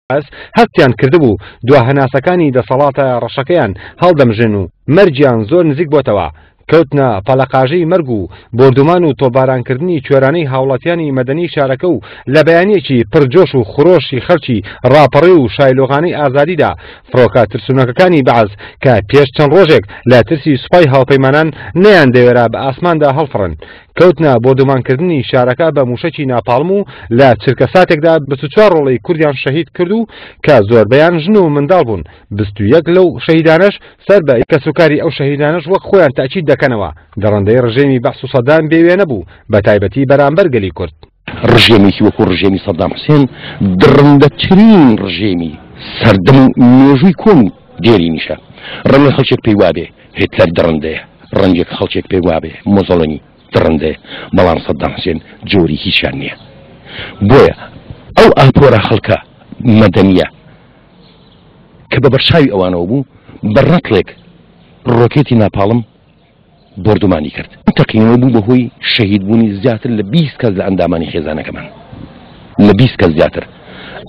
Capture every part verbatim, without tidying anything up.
هەستیان کردبوو دوا هەناسەکانی دەسەڵاتە ڕەشەکەیان هەڵدەمژن و مەرجیان زۆر نزیک بۆتەوە. کەوتنە پەلەقاژەی مەرگ و بۆردومان و تۆپبارانکردنی کوێرانەی هاوڵاتیانی مەدەنی شارەکە و لە بەیانیەکی پرجۆش و خرۆشی خەڵکی ڕاپەڕی و شایلۆغانەی ئازادیدا فڕۆکە ترسونەکەکانی بەعس کە پێش چەند ڕۆژێک لە ترسی سوپای هاوپەیمانان نەیان دەوێرا بە ئاسماندا هەڵفڕن، کەوتنە بۆردومانکردنی شارەکە بە موشەکی ناپاڵم و لە چرکە ساتێکدا بیست و چوار ڕۆڵەی کوردیان شەهید کرد و کە زۆربەیان ژن و منداڵ بوون. بیست و یەک لەو شەهیدانەش سەر بە کەسوکاری ئەو شەهیدانەش وەک خۆیان تاکید دەکەنەوە دەڕەندەی ڕژێمی بەعس و سەدام بێوێنە بوو، بە تایبەتی بەرامبەر گەلی کورد. ڕژێمێکی وەکو ڕژێمی سەدام حوسێن دڕندەترین ڕژێمی سەردەم و مێژووی کۆن و دێرینیشە. ڕەنگە خەڵکێک پێی وابێ هیتلەر دڕندەیە، ڕەنگێک خەڵکێک پێی وابێ مۆزۆلۆنی دڕندەیە، بەڵام سەدام حوسێن جۆری هیچیان نییە. بۆیە ئەو ئاپۆرە خەڵکە مەدەنیە کە بە بەرچاوی ئەوانەوە بوو بە ڕەتڵێک ڕۆکێتی ناپاڵم بۆردومانی کرد. تەقینەوە بوو بەهۆی شەهیدبوونی زیاتر لە بیست کەس لە ئەندامانی خێزانەکەمان، لە بیست کەس زیاتر.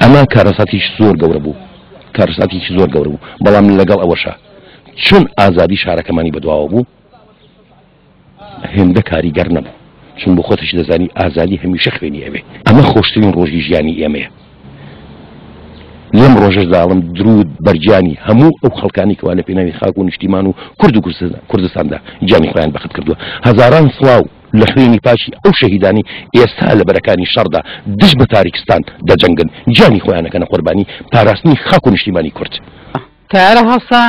ئەمە کارەساتێکی زۆر گەورە بوو، کارەساتێکی زۆر گەورە بوو. بەڵام لەگەڵ ئەوەشە چون ئازادی شارەکەمانی بەدواوە بوو هێندە کاریگەر نەبوو، چون بۆ خۆتش دەزانی ئازادی هەمیشە خوێنی ئەوێ. ئەمە خۆشترین ڕۆژی ژیانی ئێمەیە. لەم ڕۆژەشدا ئەڵم درود بەرگیانی هەموو ئەو خەڵکانی کەوا لە پێناوی خاک و نیشتیمان و کورد و کوردستاندا گیانی خۆیان بەخت کردووە. هەزاران سڵاو لە خوێنی پاکی ئەو شەهیدانی ئێستا لە بەرەکانی شەڕدا دژ بە تاریکستان دەجەنگن، گیانی خۆیانەکەنە قوربانی پاراستنی خاک و نیشتیمانی کورد. تایارە هەڵسا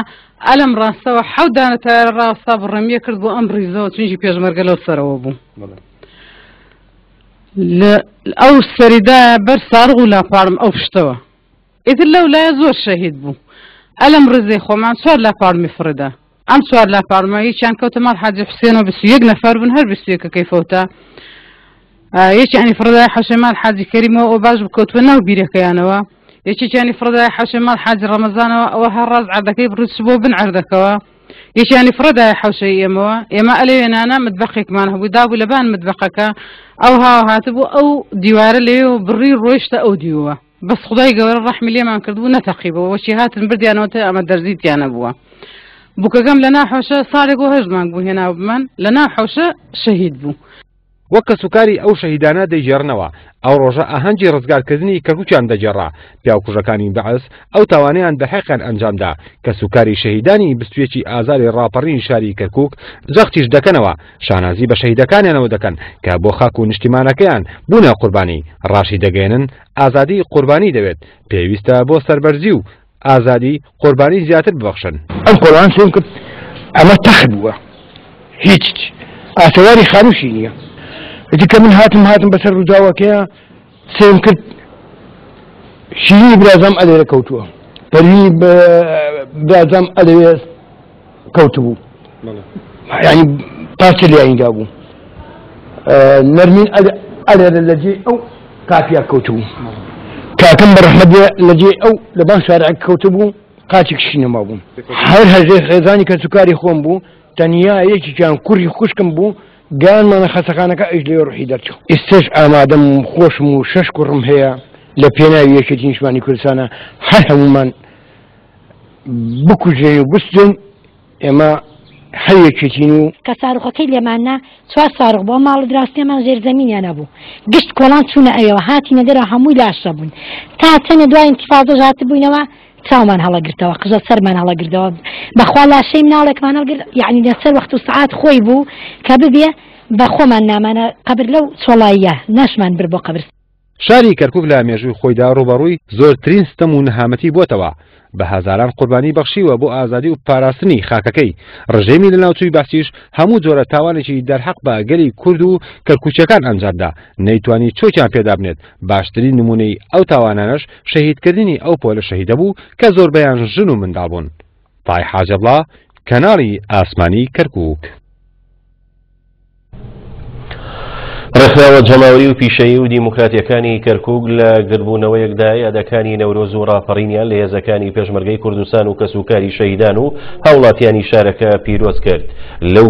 ئەلم ڕاستەوە حەوت دانە تایارە ڕاستە بڕەمیە کرد بۆ ئەم ڕیزەوە، چونکی پێشمەرگە لەو سەرەوە بوو. ئەو سەریدا بەر سارغ و لاپاڵم ئەو پشتەوە، ئیتر لەو لایە زۆر شەهید بوو. ئەلم ڕزەی خۆمان چوار لاپاڵمی فڕدا، ئەم چوار لاپاڵمە یەکیان کەوتە ماڵ حاجی حوسێنەوە، بیست و یەک نەفەر بوون، هەر بیست و یەکەکەی فەوتا. یەکیانی فڕدای حەشەی ماڵ حاجی کەریمەوە، ئەو باش بکەوتوە ناو بیرەکەیانەوە. یەکێکیانی فڕدای حەشەی ماڵ حاجی ڕەمەزانەوە، ئەوە هەر ڕاز عەردەکەی بڕیچ بۆ بن عەردەکەوە. یەکیانی فڕدای حەوشەی ئێمەوە، ئێمە ئەلێوێنانە متبەقێکمان هەبوو، دابوو لەبان متبەقەکە، ئەو هاوە هاتبوو ئەو دیوارە لەوێ و بڕی ڕۆیشتە ئەو دیوە. بەس خدای گەورە ڕەحمی لێمان کردبوو نەتەقیبەوە، وەچی هاتن بردیانەوە تا ئەمە دەرزیتیانە بووە. بووکەکەم لە ناو حەوشە ساڵێک و هەشت مانگ بوو هێناوبمان، لە ناو حەوشە شەهید بوو. وەک کەسوکاری ئەو شەهیدانە دەیگێڕنەوە ئەو ڕۆژە ئاهەنگی ڕزگارکردنی کەرکووکیان دەگێڕا. پیاوکوژەکانی بەعس ئەو تاوانەیان بە حەقیان ئەنجامدا. کەسوکاری شەهیدانی بیست و یەکی ئازاری ڕاپەڕینی شاری کەرکووک جەختیش دەکەنەوە، شانازی بە شەهیدەکانیانەوە دەکەن کە بۆ خاک و نیشتیمانەکەیان بوونە قوربانی. ڕاشی دەگەێنن ئازادی قوربانی دەوێت، پێویستە بۆ سەربەرزی و ئازادی قوربانی زیاتر ببەخشن. ئەم قۆڵان سێم کرد ئەمە تەخت بووە، هیچ ئاسەواری خانووشی نییە. ئیتر کە من هاتم هاتم بەسەر ڕووداوەکەیە سێم کرد شیرینی برازام ئەلێرە کەوتووە، پەروینی برازام ئەلێوێ کەوتبوو، یعنی پارچە لێیاندا بوو. نەرمین ئەلێرە لەجێی ئەو کافیا کەوتبوو، کاکەم بە ڕەحمەت بێ لەجێی ئەو لەبان شارعەکە کەوتبوو، قاچێک شینەما بوو. هەر هەژێ خێزانی کەسوکاری خۆم بوو، تەنیا یەکێکیان کوڕی خوشکم بوو، گیانمانە خەسەخانەکە ئەیش لێ ڕوحی دەرچوو. ئێستاش ئامادەم و خۆشم و شەش کوڕم هەیە لە پێناوی یەکێتی نیشتمانی کوردستانە، هەر هەمومان بکوژێن و بسوێن، ئێمە هەر یەکێتین و کە ساروخەکەی لێماننا چوار ساروخ بۆ ماڵ دراستێمان ژێرزەمینیان نەبوو، گشت کۆڵان چوونە ئەوێوە، هاتینە دەرەوە هەمووی لاشە بوون. تا چەندە دوای ئینتیفاضەش هاتبووینەوە چاومان هەڵەگرتەوە، قژە سەرمان هەڵەگرتەوە، بەخوا لاشەی مناڵێکمان هەڵگرت، یعنی لەسەر وەخت و سەعات خۆی بوو کە ببێ بە خۆمان نامانە قەبر لەو چۆڵاییە ناشمان بر بۆ قەبر. شاری کەرکووک لە مێژووی خۆیدا ڕووبەڕووی زۆرترین ستەم و نەهامەتی بۆتەوە، بە هەزاران قوربانی بەخشیوە بۆ ئازادی و پاراستنی خاکەکەی. ڕژێمی لەناوچووی بەعسیش هەموو جۆرە تاوانێکی دەرحەق بە گەلی کورد و کەرکووکیەکان ئەنجامدا، نەیتوانی چۆکیان پێدا بنێت. باشترین نمونەی ئەو تاوانانەش شەهیدکردنی ئەو پۆلە شەهیدە بوو کە زۆربەیان ژن و منداڵ بوون. پای حاجەبڵا، کەناڵی ئاسمانی کەرکووک. ڕێکخراوە جەماوەری و پیشەیی و دیموکراتیەکانی کەرکووک لە گردبوونەوەیەکدا یادەکانی نەورۆز و ڕاپەڕینیان لە هێزەکانی پێشمەرگەی کوردستان و کەسوکاری شەهیدان و هاوڵاتیانی شارەکە پیرۆز کرد. لەو